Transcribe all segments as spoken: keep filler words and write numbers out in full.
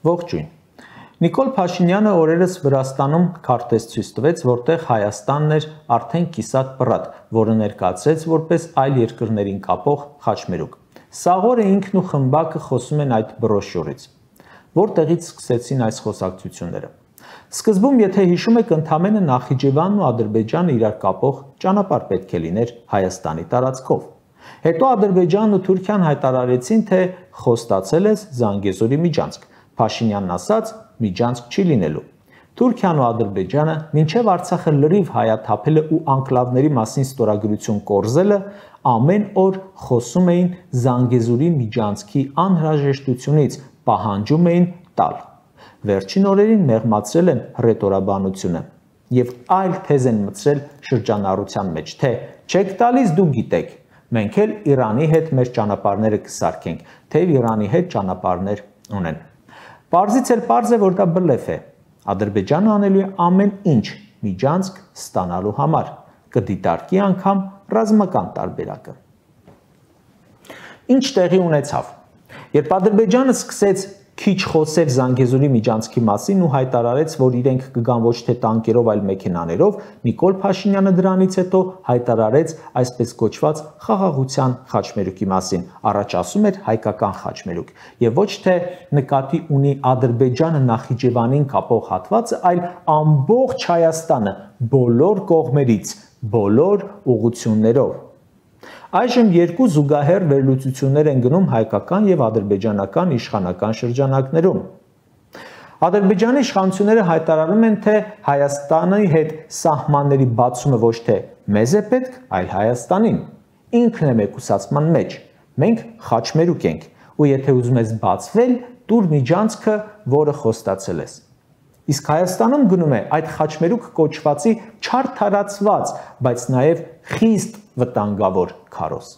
Ողջույն։ Նիկոլ Փաշինյանը օրերս Վրաստանում քարտեզ ցույց տվեց, որտեղ Հայաստանն էր արդեն կիսատ պռատ, որը ներկայացրեց որպես այլ երկրներին կապող խաչմերուկ։ Սաղ օրը ինքն ու խմբակը խոսում են այդ բրոշյուրից։ Որտեղից սկսեցին այս խոսակցությունները։ Սկզբում, եթե հիշում եք, ընդամենը Նախիջևանն ու Ադրբեջանը իրար կապող ճանապարհ պետք է լիներ Հայաստանի տարածքով։ Հետո Ադրբեջանն ու Թուրքիան հայտարարեցին, թե խոստացել է Զանգեզուրի միջանցք։ Փաշինյանն ասաց, միջանցք չի լինելու։ Թուրքիան ու Ադրբեջանը մինչև Արցախը լրիվ հայաթափելը ու անկլավների մասին ստորագրություն կորզելը ամեն օր խոսում էին Զանգեզուրի միջանցքի անհրաժեշտությունից, պահանջում էին տալ։ Վերջին օրերին մեղմացրել են հռետորաբանությունը եւ այլ թեզ են մտցրել շրջանառության մեջ, թե չեք տալիս դու գիտեք, մենք էլ Իրանի հետ մեր ճանապարհները կսարքենք, թեև Իրանի հետ ճանապարհներ ունեն։ Պարզից էլ պարզ է, որ դա բլեֆ է։ Ադրբեջանը անելու է ամեն ինչ միջանցք ստանալու համար, կդիտարկի անգամ ռազմական տարբերակը։ Ինչ տեղի ունեցավ։ Երբ Ադրբեջանը սկսեց քիչ խոսել Զանգեզուրի միջանցքի մասին ու հայտարարեց, որ իրենք կգան ոչ թե տանկերով, այլ մեքենաներով, Նիկոլ Փաշինյանը դրանից հետո հայտարարեց այսպես կոչված խաղաղության խաչմերուկի մասին, առաջ ասում էր հայկական խաչմերուկ, եւ ոչ թե նկատի ունի Ադրբեջանը Նախիջևանին կապող հատվածը, այլ ամբողջ Հայաստանը բոլոր կողմերից, բոլոր ուղղություններով։ Այժմ երկու զուգահեռ վերլուծություններ են գնում հայկական եւ ադրբեջանական իշխանական շրջանակներում։ Ադրբեջանի իշխանությունները հայտարարում են, թե Հայաստանի հետ սահմանների բացումը ոչ թե մեզ է պետք, այլ Հայաստանին։ Ինքն է մեկուսացման մեջ։ Մենք խաչմերուկ ենք, ու եթե ուզում ես բացվել, տուր միջանցքը, որը խոստացել ես։ Իսկ Հայաստանում գնում է այդ խաչմերուկ կոչվածի չարդարացված, բայց նաև խիստ վտանգավոր քարոզ։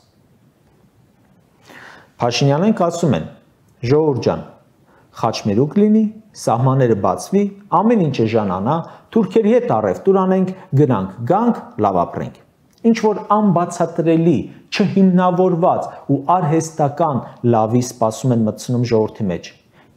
Փաշինյանենք ասում են. ժողովուրդ ջան, խաչմերուկ լինի, սահմանները բացվի, ամեն ինչը ժանանա, թուրքերի հետ առևտուր անենք, գնանք, գանք, լավ ապրենք։ Ինչ որ անբացատրելի, չհիմնավորված ու արհեստական լավի սպասում են մտցնում ժողովրդի մեջ։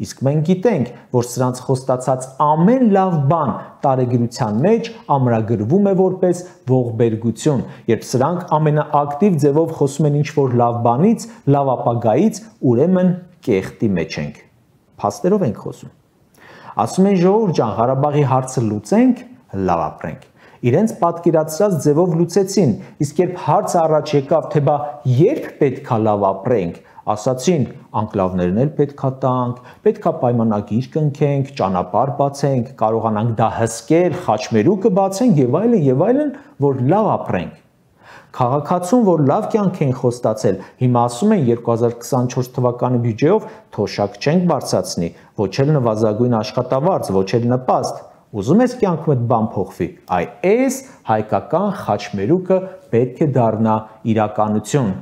Իսկ մենք գիտենք, որ սրանց խոստացած ամեն լավ բան տարեգրության մեջ ամրագրվում է որպես ողբերգություն, երբ սրանք ամենաակտիվ ձևով խոսում են ինչ-որ լավ բանից, լավ ապագայից, ուրեմն կեղտի մեջ ենք։ Փաստերով ենք խոսում։ Ասում են ժողովուրդ ջան, Ղարաբաղի հարցը լուծենք, լավ ապրենք։ Իրենց պատկերացրած ձևով լուծեցին, իսկ երբ հարցը առաջ եկավ, թե բա երբ պետքա լավ ապրենք, ասացին, անկլավներն էլ պետքա տանք, պետքա պայմանագիր կնքենք, ճանապարհ բացենք, կարողանանք դա հսկել, խաչմերուկը բացենք եւ այլն եւ այլն, որ լավ ապրենք։ Քաղաքացուն, որ լավ կյանք են խոստացել, հիմա ասում են երկու հազար քսանչորս թվականի բյուջեով թոշակ չենք բարձրացնի, ոչ էլ նվազագույն աշխատավարձ, ոչ էլ նպաստ։ Ուզում ես կյանքում այդ բան փոխվի, այ այս հայկական խաչմերուկը պետք է դառնա իրականություն։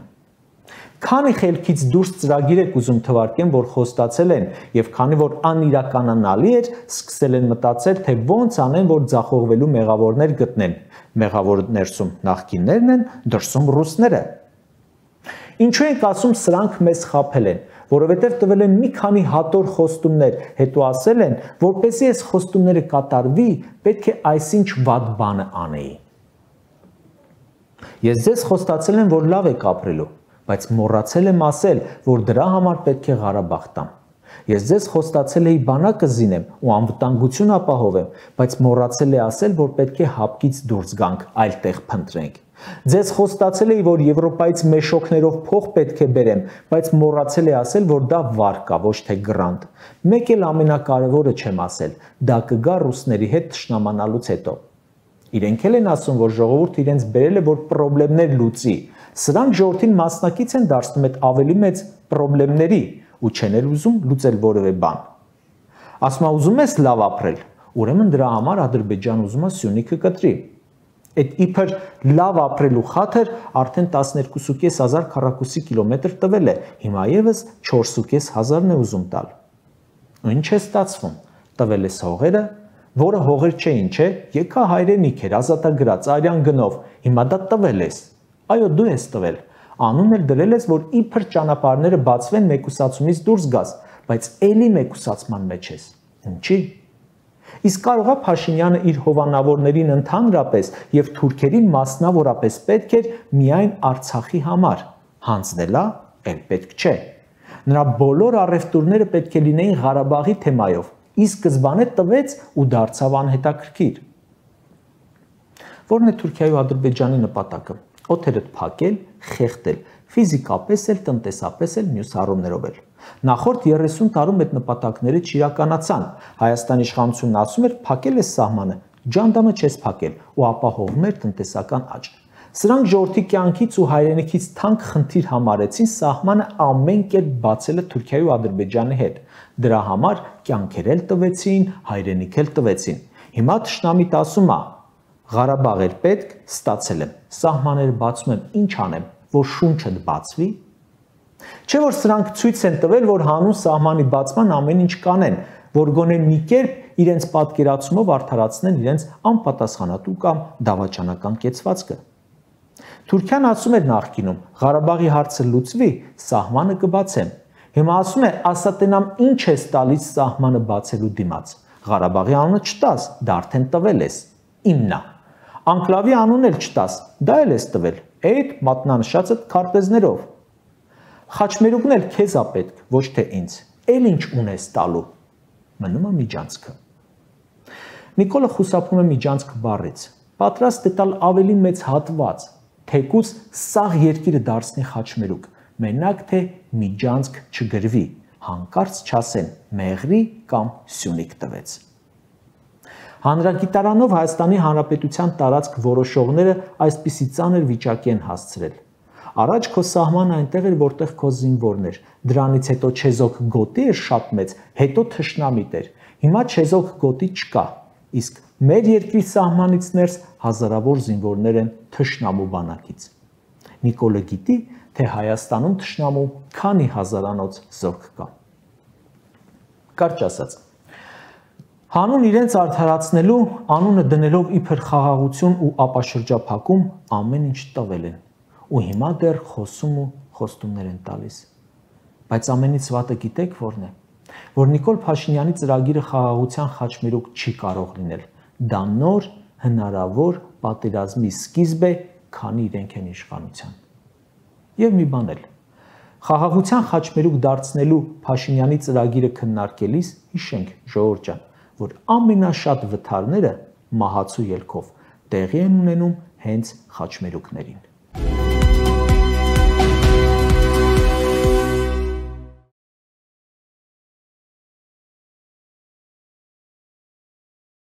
Քանի խելքից դուրս ծրագիր եք ուզում թվարկեն, որ խոստացել են, եւ քանի որ անիրականանալի էր, սկսել են մտածել, թե ոնց անեն, որ ձախողվելու մեղավորներ գտնեն։ Մեղավոր ներսում նախկիններն են, դրսում ռուսները։ Ինչու ենք ասում սրանք մեզ խաբել են, որովհետև տվել են մի քանի հատոր խոստումներ, հետո ասել են, որպեսզի այս խոստումները կատարվի, պետք է այսինչ վատ բանը անեի։ Ես ձեզ խոստացել եմ, որ լավ եք ապրելու, բայց մոռացել եմ ասել, որ դրա համար պետք է Ղարաբաղ տամ։ Ես ձեզ խոստացել էի բանակը զինեմ ու անվտանգություն ապահովեմ, բայց մոռացել եմ ասել, որ պետք է հապկից դուրս գանք, այլ տեղ փնտրենք։ Ձեզ խոստացել էի, որ Եվրոպայից մեշոքներով փող պետք է բերեմ, բայց մոռացել եմ ասել, որ դա վարկա, ոչ թե գրանտ։ Մեկ էլ ամենակարևորը չեմ ասել, դա կգա ռուսների հետ թշնամանալուց հետո։ Իրենք էլ են ասում, որ ժողովուրդը իրենց բերել է, որ խնդիրներ լուծի։ Սրանք ժողովրդին մասնակից են դարձնում այդ ավելի մեծ խնդիրների ու չեն էլ ուզում լուծել որևէ բան։ Ասում եմ, ուզում ես լավ ապրել, ուրեմն դրա համար Ադրբեջան ուզում է Սյունիքը կտրի։ Այդ իբր լավ ապրելու խաթր արդեն տասներկու հազար քառակուսի կիլոմետր տվել է, հիմա եւս չորս հազարն է ուզում տալ։ Ու ինչ է ստացվում։ Տվել է հողերը, որը հողեր չէին, չէ, եկա հայրենիք էր, ազատագրած արյան գնով, հիմա դա տվել ես։ Այո, դու ես տվել։ Անուն էլ դրել ես, որ իբր ճանապարհները բացվեն մեկուսացումից դուրս գաս, բայց էլի մեկուսացման մեջ ես։ Ինչի՞։ Իսկ կարողա Փաշինյանը իր հովանավորներին ընդհանրապես եւ թուրքերին մասնավորապես պետք էր միայն Արցախի համար, հանձնելա էլ պետք չէ։ Նրա բոլոր առևտուրները պետք է լինեին Ղարաբաղի թեմայով, իսկ սկզբանե տվեց ու դարձավ անհետաքրքիր։ Որն է Թուրքիայի ու Ադրբեջանի նպատակը։ Օդերդ փակել, խեղդել, ֆիզիկապես էլ, տնտեսապես էլ, մյուս առումներով էլ։ Նախորդ երեսուն տարում այդ նպատակները չիրականացան։ Հայաստանի իշխանությունն ասում էր փակել է սահմանը, ջանդամը չես փակել ու ապահովում էր տնտեսական աճ։ Սրանք ժողովրդի կյանքից ու հայրենիքից թանկ խնդիր համարեցին սահմանը ամեն կերպ բացելը Թուրքիայի ու Ադրբեջանի հետ։ Դրա համար կյանքեր էլ տվեցին, հայրենիք էլ տվեցին։ Հիմա թշնամիտ ասում է. Ղարաբաղ էր պետք, ստացել եմ, սահմանները բացում եմ, ինչ անեմ, որ շունչդ բացվի։ Չէ որ սրանք ցույց են տվել, որ հանուն սահմանի բացման ամեն ինչ կանեն, որ գոնե մի կերպ իրենց պատկերացումով արդարացնեն իրենց անպատասխանատու կամ դավաճանական կեցվածքը։ Թուրքիան ասում էր նախկինում, Ղարաբաղի հարցը լուծվի, սահմանը կբացեմ։ Հիմա ասում է, ասատենամ ինչ ես տալիս սահմանը բացելու դիմաց։ Ղարաբաղի անունը չտաս, դա արդեն տվել ես, իմն է։ Անկլավի անուն էլ չտաս, դա էլ ես տվել, այդ մատնանշածը քարտեզներով։ Խաչմերուկն էլ քեզ է պետք, ոչ թե ինձ։ Էլ ինչ ունես տալու։ Մնում է միջանցքը։ Նիկոլը խուսափում է միջանցք բառից։ Պատրաստ է տալ ավելի մեծ հատված, թեկուզ սաղ երկիրը դարձնի խաչմերուկ, մենակ թե միջանցք չգրվի, հանկարծ չասեն Մեղրի կամ Սյունիք տվեց։ Հանրագիտարանով Հայաստանի Հանրապետության տարածք որոշողները այսպիսի ծանր վիճակի են հասցրել։ Առաջ քո սահմանը այնտեղ էր, որտեղ քո զինվորն էր, դրանից հետո չեզոք գոտի էր շատ մեծ, հետո թշնամիտ էր, հիմա չեզոք գոտի չկա, իսկ մեր երկրի սահմանից ներս հազարավոր զինվորներ են թշնամու բանակից։ Նիկոլը գիտի, թե Հայաստանում թշնամու քանի հազարանոց զորք կա։ Կարճ ասած, հանուն իրենց արդարացնելու, անունը դնելով իբր խաղաղություն ու ապաշրջափակում ամեն ինչ տվել են, ու հիմա դեռ խոսում ու խոստումներ են տալիս։ Բայց ամենից վատը գիտեք որն է, որ Նիկոլ Փաշինյանի ծրագիրը խաղաղության խաչմերուկ չի կարող լինել։ Դա նոր հնարավոր պատերազմի սկիզբ է, քանի իրենք են իշխանության։ Եվ մի բան էլ, խաղաղության խաչմերուկ դարձնելու Փաշինյանի ծրագիրը քննարկելիս հիշենք, ժողովուրդ ջան, որ ամենաշատ վթարները մահացու ելքով տեղի են ունենում հենց խաչմերուկներին։